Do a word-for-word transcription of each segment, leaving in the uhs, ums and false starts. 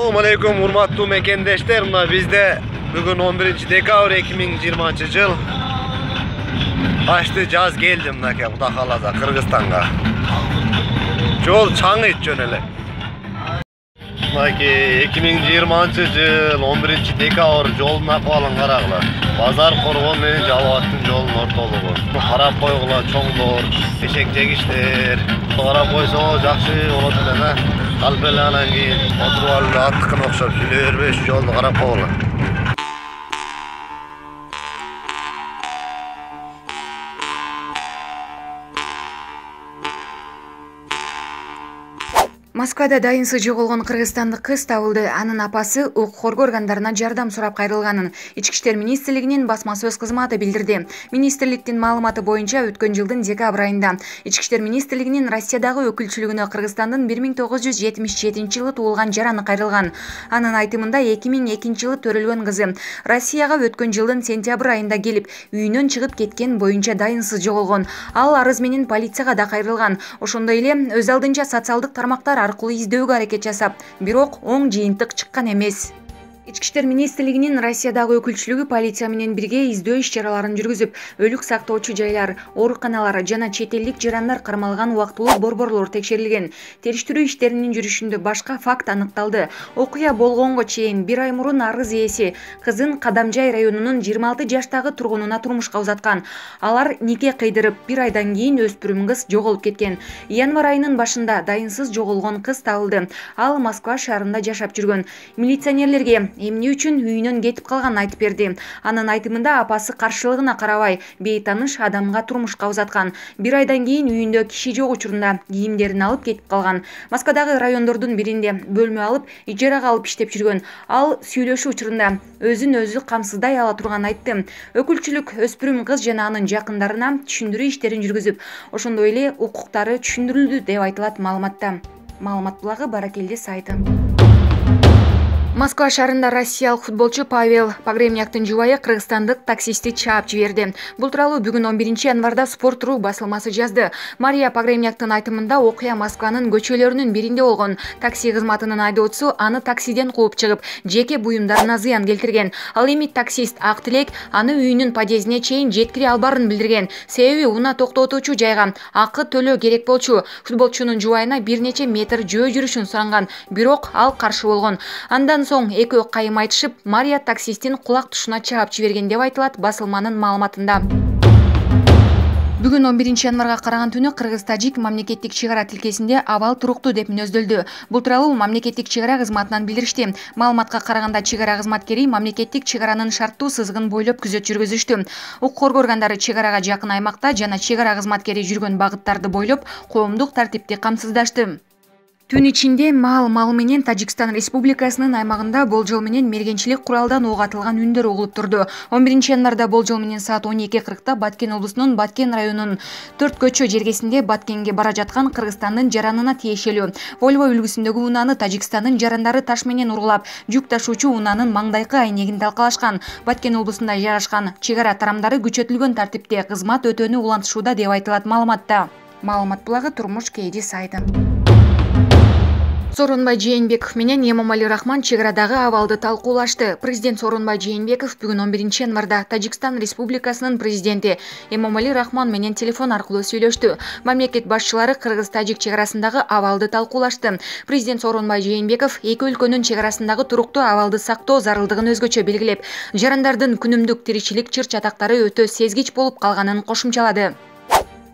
Assalamu alaikum урматтуу мекендештер. Мына бизде бүгүн он биринчи декабрь эки миң жыйырманчы жыл. Ашты жаз келди мынакей Кудай кааласа Кыргызстанга. Жол чаңыйт жөн эле. Мынакей эки миң жыйырманчы жыл он биринчи декабрь жолдун акыбалын карагыла. Базар Коргон менен Жалал абадтын жолунун ортолугу. Карап койгула чоңдор, эшек жегиштер. Карап койсоңуз жакшы болот эле. Алып эле анан кийин отуруп алып аттыкына окшоп сүйлөй бербеш жолду карап койгула. Москвада дайынсыз жоголгон кыргызстандык кыз табылды. Анын апасы укук коргоо органдарына жардам сурап кайрылганын Ички иштер министрлигинин басма сөз кызматы билдирди. Министрликтин маалыматы боюнча өткөн жылдын декабрь айында Ички иштер министрлигинин Россиядагы өкүлчүлүгүнө Кыргызстандын бир миң тогуз жүз жетимиш жетинчи жылы туулган жараны кайрылган. Анын айтымында эки миң экинчи жылы төрөлгөн кызы Россияга өткөн жылдын сентябрь айында келип, үйүнөн чыгып кеткен боюнча дайынсыз жоголгон. Ал арыз менен полицияга да кайрылган. Ошондой эле өз алдынча социалдык тармактар аркылуу издөөгө аракет жасап, бирок оң жыйынтык чыккан эмес. Ички иштер министрлигинин Россиядагы өкүлчүлүгү полиция менен бирге издөө иш-чараларын жүргүзүп, өлүк сактоочу жайлар, ооруканалар жана чет элдик жарандар кармалган убактылуу борборлор текшерилген. Териштирүү иштеринин жүрүшүндө башка факт аныкталды. Окуя болгонго чейин бир ай мурун арыз ээси кызын Кадамжай районунун жыйырма алты жаштагы тургунуна турмушка узаткан. Алар нике кыйдырып, бир айдан кийин өспүрүм кыз жоголуп кеткен. Январь айынын башында дайынсыз жоголгон кыз табылды. Ал Москва шаарында жашап жүргөн. Милиционерлерге эмне үчүн үйүнөн кетип калганын айтып берди. Анын айтымында апасы каршылыгына карабай бейтаныш адамга турмушка узаткан. Бир айдан кийин үйүндө киши жок учурунда кийимдерин алып кетип калган. Москвадагы райондордун биринде бөлмө алып, ижарага алып иштеп жүргөн. Ал сүйлөшүү учурунда өзүн өзү камсыздай ала турганын айтты. Өкүлчүлүк өспүрүм кыз жана анын жакындарына түшүндүрүү иштерин жүргүзүп, ошондой эле укуктары түшүндүрүлдү деп айтылат маалыматта. Маалымат булагы Баракелде сайты. Москва шаарында россиялык футболчу Павел Погребняктын жубайы кыргызстандык таксистти чаап жиберди. Бул тууралуу бүгүн он биринчи январда Спорт.ру басылмасы жазды. Мария Погребняктын айтымында окуя Москванын көчөлөрүнүн биринде болгон. Такси кызматынын айдоочусу аны таксиден кууп чыгып, жеке буюмдарына зыян келтирген. Ал эми таксист Ак Тилек аны үйүнүн подъездине чейин жеткире албарын билдирген. Себеби унаа токтотуучу жайга акы төлөө керек болчу. Футболчунун жубайына бир нече метр жөө жүрүшүн суранган, бирок ал каршы болгон. Андан соң экөө кайым айтышып, Мария таксисттин кулак тушуна чаап жиберген деп айтылат басылманын маалыматында. Бүгүн он биринчи январга караган түнү Кыргыз-Тажик мамлекеттик чек ара тилкесинде абал туруктуу деп мүнөздөлдү. Бул тууралуу мамлекеттик чек ара кызматынан билдиришти. Маалыматка караганда чек ара кызматкери мамлекеттик чек аранын шарттуу сызыгын бойлоп күзөт жүргүзүштү. Укук коргоо органдары чек арага жакын аймакта жана чек ара кызматкери жүргөн багыттарды бойлоп коомдук тартипти камсыздашты. Түн ичинде маал мал менен Тажикстан Республикасынын аймагында болжол менен мергенчилик куралдан ок атылган үндөр угулуп турду. он биринчи январда болжол менен саат он эки кыркта Баткен облусунун Баткен районунун төрт көчө жергесинде Баткенге бара жаткан Кыргызстандын жаранына тиешелүү Volvo үлгүсүндөгү унааны Тажикстандын жарандары таш менен ургулап, жүк ташуучу унаанын маңдайкы айнегин талкалашкан. Баткен облусунда жайгашкан чек ара тарамдары күчөтүлгөн тартипте кызмат өтөөнү улантышууда деп айтылат маалыматта. Маалымат булагы Турмуш Кейди сайты. Сооронбай Жээнбеков менен Эмомали Рахмон чек арадагы абалды талкуулашты. Президент Сооронбай Жээнбеков бүгүн он биринчи январда Тажикстан Республикасынын президенти Эмомали Рахмон менен телефон аркылуу сүйлөштү. Мамлекет башчылары Кыргыз-Тажик чек арасындагы абалды талкуулашты. Президент Сооронбай Жээнбеков эки өлкөнүн чек арасындагы туруктуу абалды сактоо зарылдыгын өзгөчө белгилеп, жарандардын күнүмдүк тиричилик чыр-чатактары өтө сезгич болуп калганын кошумчалады.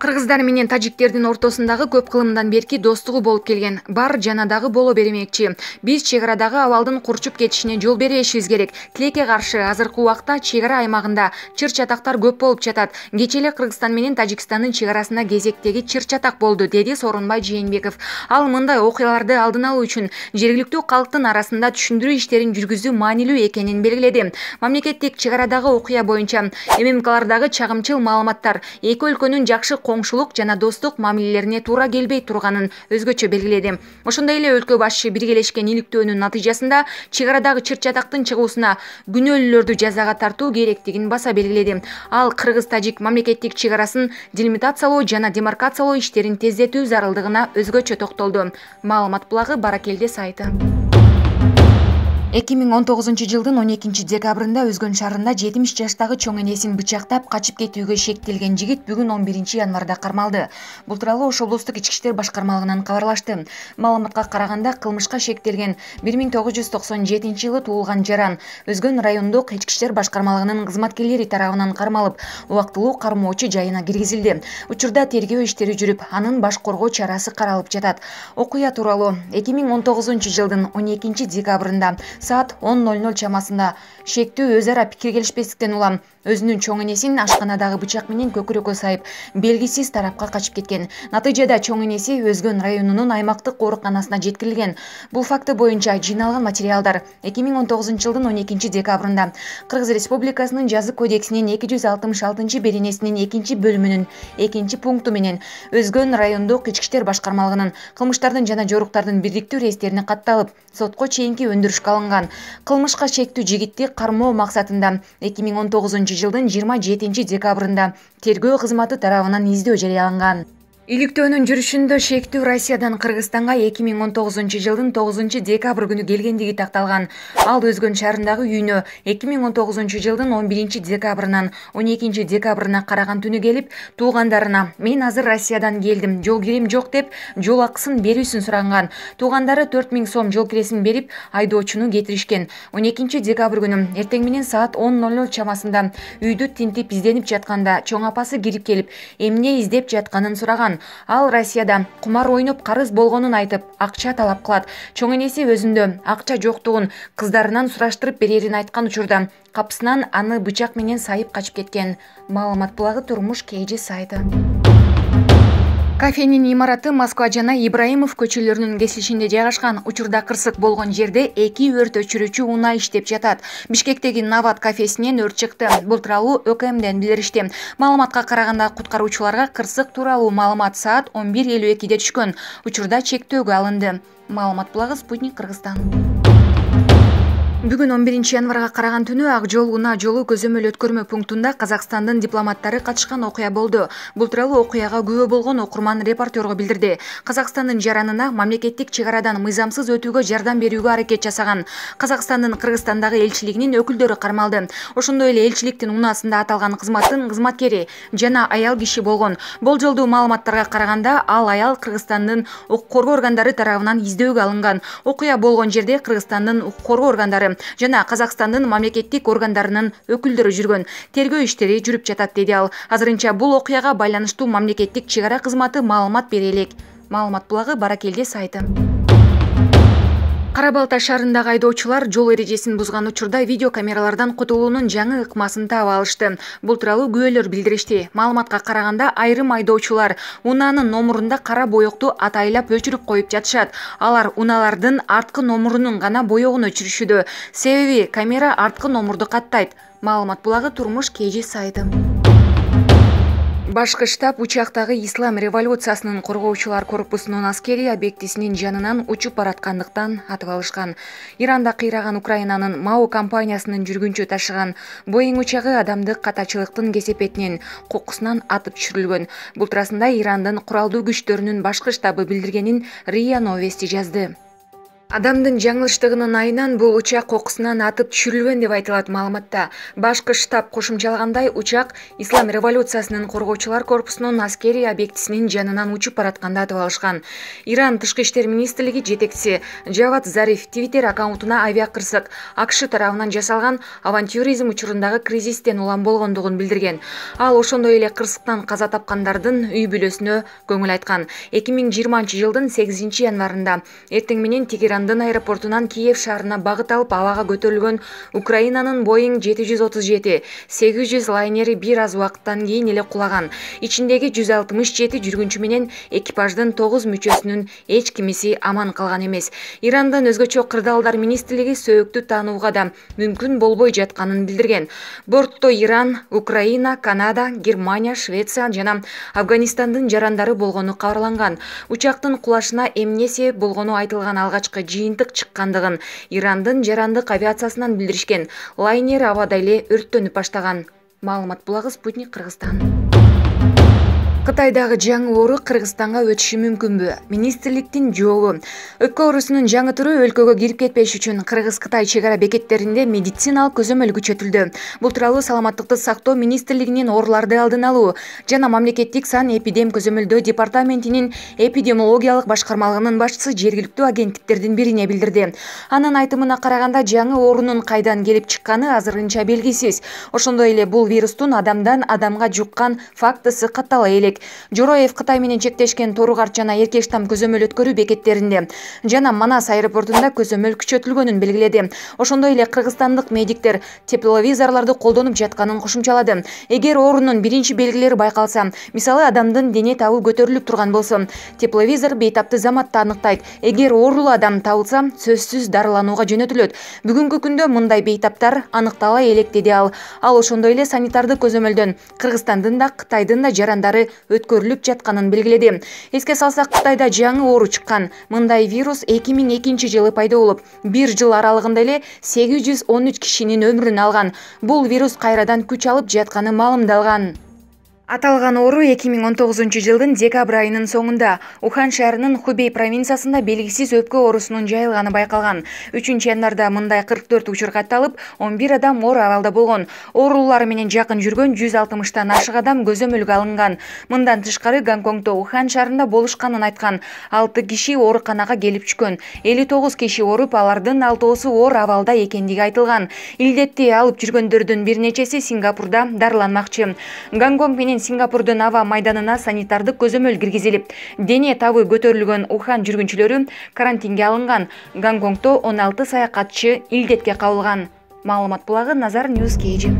Кыргыздар менен тажиктердин ортосундагы көп кылымдан берки достугу болуп келген. Бар жана дагы боло бермекчи. Биз чек арадагы абалдын курчуп кетишине жол бербешибиз керек. Тилекке каршы азыркы убакта чек ара аймагында чыр-чатактар көп болуп жатат. Кечээ эле Кыргызстан менен Тажикстандын чек арасында кезектеги чыр-чатак болду, деди Сооронбай Жээнбеков. Ал мындай окуяларды алдын алуу үчүн жергиликтүү калктын арасында түшүндүрүү иштерин жүргүзүү маанилүү экенин белгиледи. Мамлекеттик чек арадагы окуя боюнча ММКлардагы чагымчыл маалыматтар эки өлкөнүн жакшы коңшулук жана достук мамилелерине туура келбей турганын өзгөчө белгиледи. Ошондой эле өлкө башчы биргелешкен иликтөөнүн натыйжасында чек арадагы чыр-чатактын чыгуусуна күнөөлүүлөрдү жазага тартуу керектигин баса белгиледи. Ал Кыргыз-Тажик мамлекеттик чек арасын делимитациялоо жана демаркациялоо иштерин тездетүү зарылдыгына өзгөчө токтолду. Маалымат булагы Баракелде сайты. эки миң он тогузунчу жылдын он экинчи декабрында Өзгөн шаарында жетимиш жаштагы чоң энесин бычактап качып кетүүгө шектелген жигит бүгүн он биринчи январда кармалды. Бул тууралуу Ош облустук ички иштер башкармалыгынан кабарлашты. Маалыматка караганда кылмышка шектелген бир миң тогуз жүз токсон жетинчи жылы туулган жаран Өзгөн райондук ички иштер башкармалыгынын кызматкерлери тарабынан кармалып, убактылуу кармоочу жайына киргизилди. Учурда тергөө иштери жүрүп, анын баш коргоо чарасы каралып жатат. Окуя тууралуу эки миң он тогузунчу жылдын он экинчи декабрында саат он ноль ноль чамасында шектүү өз ара пикир келишпестиктен улам өзүнүн чоң энесин ашканадагы бычак менен көкүрөккө сайып, белгисиз тарапка качып кеткен. Натыйжада чоң энеси Өзгөн районунун аймактык ооруканасына жеткирилген. Бул факты боюнча жыйналган материалдар эки миң он тогузунчу жылдын он экинчи декабрында Кыргыз Республикасынын жазык кодексинин эки жүз алтымыш алтынчы беренесинин экинчи бөлүмүнүн экинчи пункту менен Өзгөн райондук ички иштер башкармалыгынын кылмыштардын жана жоруктардын бирдиктүү рейстерине катталып, сотко чейинки өндүрүшкө алынган. Кылмышка шектүү жигитти кармоо максатында эки миң он тогузунчу жылдын жыйырма жетинчи декабрында тергөө кызматы тарабынан издөө жарыяланган. Иликтөөнүн жүрүшүндө шектүү Россиядан Кыргызстанга эки миң он тогузунчу жылдын тогузунчу декабрь күнү келгендиги такталган. Ал Өзгөн шаарындагы үйүнө эки миң он тогузунчу жылдын он биринчи декабрынан он экинчи декабрына караган түнү келип, туугандарына "Мен азыр Россиядан келдим, жол кирем жок" деп жол акысын берүүсүн суранган. Туугандары төрт миң сом жол киресин берип, айдоочуну кетиришкен. он экинчи декабрь күнү эртең менен саат он ноль ноль чамасында үйдү тинтип изденип жатканда чоң апасы кирип келип, эмне издеп жатканын сураган. Ал Россияда кумар ойноп карыз болгонун айтып, акча талап кылат. Чоң энеси өзүндө акча жоктугун кыздарынан сураштырып берерин айткан учурда капысынан аны бычак менен сайып качып кеткен. Маалымат булагы Турмуш Кей Жи сайты. Кафенин имараты Москва жана Ибраимов көчөлөрүнүн кесилишинде жайгашкан. Учурда кырсык болгон жерде эки өрт өчүрүүчү унаа иштеп жатат. Бишкектеги Нават кафесинен өрт чыкты. Бул тууралуу О К Мден билдиришти. Маалыматка караганда куткаруучуларга кырсык тууралуу маалымат саат он бир элүү экиде түшкөн. Учурда чектөөгө алынды. Маалымат булагы Спутник Кыргызстан. Бүгүн он биринчи январга караган түнү Ак жол унаа жолу көзөмөл өткөрмө пунктунда Казакстандын дипломаттары катышкан окуя болду. Бул тууралуу окуяга күбө болгон окурман репортерго билдирди. Казакстандын жаранына мамлекеттик чек арадан мыйзамсыз өтүүгө жардам берүүгө аракет жасаган Казакстандын Кыргызстандагы элчилигинин өкүлдөрү кармалды. Ошондой эле элчиликтин унаасында аталган кызматтын кызматкери жана аял киши болгон. Болжолдуу маалыматтарга караганда, ал аял Кыргызстандын укук коргоо органдары тарабынан издөөгө алынган. Окуя болгон жерде Кыргызстандын укук коргоо органдары жана Казакстандын мамлекеттик органдарынын өкүлдөрү жүргөн. Тергөө иштери жүрүп жатат, деди ал. Азырынча бул окуяга байланыштуу мамлекеттик чек ара кызматы маалымат бере элек. Маалымат булагы Баракелде сайты. Кара Балта шаарындагы айдоочулар жол эрежесин бузган учурда видео камералардан кутулуунун жаңы ыкмасын таап алышты. Бул тууралуу күбөлөр билдиришти. Маалыматка караганда, айрым айдоочулар унаанын номурунда кара боекту атайлап өчүрүп коюп жатышат. Алар унаалардын арткы номурунун гана боегун өчүрүшүүдө. Себеби камера арткы номурду каттайт. Маалымат булагы Турмуш Кей Жи сайты. Башкы штаб учактагы Ислам революциясынын коргоочулар корпусунун аскери объектисинин жанынан учуп бараткандыктан атып алышкан. Иранда кыйраган Украинанын МАО компаниясынын жүргүнчү ташыган Боeing учагы адамдык катачылыктын кесепетинен кокусунан атып түшүрүлгөн. Бул туурасында Ирандын куралдуу күчтөрүнүн башкы штабы билдиргенин РИА Новости жазды. Адамдын жаңылыштыгынын айынан бул учак кокусунан атып түшүрүлгөн деп айтылат маалыматта. Башкы штаб кошумчалагандай, учак Ислам революциясынын коргоочулар корпусунун аскери объектисинин жанынан учуп баратканда атып алышкан. Иран тышкы иштер министрлиги жетекчиси Джавад Зариф Твиттер аккаунтуна авиакырсык АКШ тарабынан жасалган авантюризм учурундагы кризистен улам болгондугун билдирген. Ал ошондой эле кырсыктан каза тапкандардын үй бүлөсүнө көңүл айткан. эки миң жыйырманчы жылдын сегизинчи январында эртең менен Тегерандын аэропортунан Киев шаарына багыт алып абага көтөрүлгөн Украинанын Боeing жети жүз отуз жети сегиз жүз лайнери бир аз убакыттан кийин эле кулаган. Ичиндеги жүз алтымыш жети жүргүнчү менен экипаждын тогуз мүчөсүнүн эч кимиси аман калган эмес. Ирандын өзгөчө кырдаалдар министрлиги сөөктү таанууга да мүмкүн болбой жатканын билдирген. Бортто Иран, Украина, Канада, Германия, Швеция жана Афганистандын жарандары болгону кабарланган. Учактын кулашына эмне себеп болгону айтылган алгачкы жыйынтык чыккандыгын Ирандын жарандык авиациясынан билдиришкен. Лайнер абада эле өрттөнүп баштаган. Маалымат булагы Спутник Кыргызстан. Кытайдагы жаңы оору Кыргызстанга өтүшү мүмкүнбү? Министрликтин жообу. Өпкө оорусунун жаңы түрү өлкөгө кирип кетпеш үчүн Кыргыз-Кытай чек ара бекеттеринде медициналык көзөмөл күчөтүлдү. Бул тууралуу Саламаттыкты сактоо министрлигинин ооруларды алдын алуу жана мамлекеттик сан эпидем көзөмөлдөө департаментинин эпидемиологиялык башкармалыгынын башчысы жергиликтүү агенттиктердин бирине билдирди. Анын айтымына караганда, жаңы оорунун кайдан келип чыкканы азырынча белгисиз. Ошондой эле бул вирустун адамдан адамга жуккан фактысы каттала элек. Жороев Кытай менен чектешкен Торугарт жана Эркештам көзөмөл өткөрүү бекеттеринде жана Манас аэропортунда көзөмөл күчөтүлгөнүн белгиледи. Ошондой эле кыргызстандык медиктер тепловизорлорду колдонуп жатканын кошумчалады. Эгер оорунун биринчи белгилери байкалса, мисалы адамдын дене табы көтөрүлүп турган болсо, тепловизор бейтапты заматта аныктайт. Эгер оорулуу адам табылса, сөзсүз дарыланууга жөнөтүлөт. Бүгүнкү күндө мындай бейтаптар аныктала элек, деди ал. Ал ошондой эле санитардык көзөмөлдөн Кыргызстандын да Кытайдын да жарандары өткөрүлүп жатканын белгиледи. Эске салсак, Кытайда жаңы оору чыккан. Мындай вирус эки миң экинчи жылы пайда болуп, бир жыл аралыгында эле сегиз жүз он үч кишинин өмүрүн алган. Бул вирус кайрадан күч алып жатканы маалымдалган. Аталган оору эки миң он тогузунчу жылдын декабрь айынын соңунда Ухан шаарынын Хубей провинциясында белгисиз өпкө оорусунун жайылганы байкалган. үчүнчү январда мындай кырк төрт учур катталып, он бир адам оор абалда болгон. Оорулар менен жакын жүргөн жүз алтымыштан ашык адам көзөмөлгө алынган. Мындан тышкары Гонконгдо Ухан шаарында болушканын айткан. алты киши ооруканага келип түшкөн. элүү тогуз киши ооруп, алардын алтоосу оор абалда экендиги айтылган. Илдетти алып жүргөндөрдүн бир нечеси Сингапурда дарыланмакчы. Гонконг менен Сингапурдун аба майданына санитардык көзөмөл киргизилип, дене табы көтөрүлгөн Ухан жүргүнчүлөрү карантинге алынган. Гонконгдо он алты саякатчы илдетке кабылган. Маалымат булагы Назар Ньюс Кейджи.